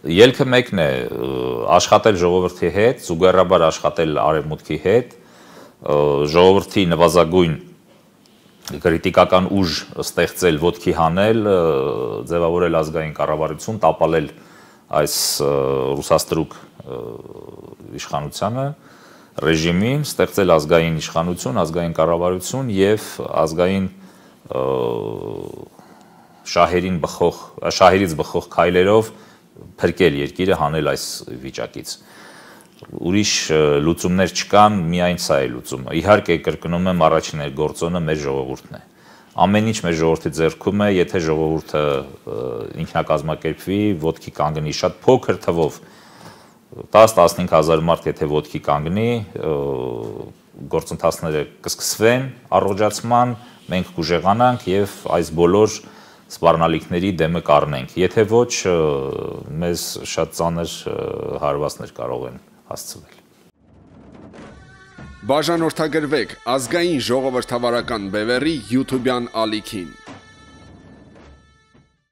Ելքը մեկն է, աշխատել ժողովրդի հետ, զուգահեռաբար աշխատել արևմուտքի հետ, ժողովրդի նվազագույն քրիտիկական ուժ ստեղծել, ոտքի հանել, ձևավորել ազգային կառավարություն, տապալել այս ռուսաստրուկ իշխանությանը, ռեժիմին, ստեղծել ազգային իշխանություն, ազգային կառավարություն եւ ազգային շահերից բխող քայլերով փրկել երկիրը, հանել այս վիճակից։ Ուրիշ լուծումներ չկան, միայն սա է լուծումը։ Իհարկե, կրկնում եմ, առաջին գործոնը մեր ժողովուրդն է։ Ամեն ինչ մեր ժողովրդի ձեռքում է, եթե ժողովուրդը ինքնակազմակերպվի, ոտքի կանգնի շատ փոքր թվով, 10-15 հազար մարդ եթե ոտքի կանգնի, գործընթացները կսկսվեն առողջացման, մենք կուժեղանանք եւ այս բոլոր սպառնալիքների դեմը կառնենք, եթե ոչ, մեզ շատ ծանր հարվածներ կարող են հասցվել։ Բաժանորդագրվեք ազգային ժողովրդավարական բևեռի YouTube-յան ալիքին։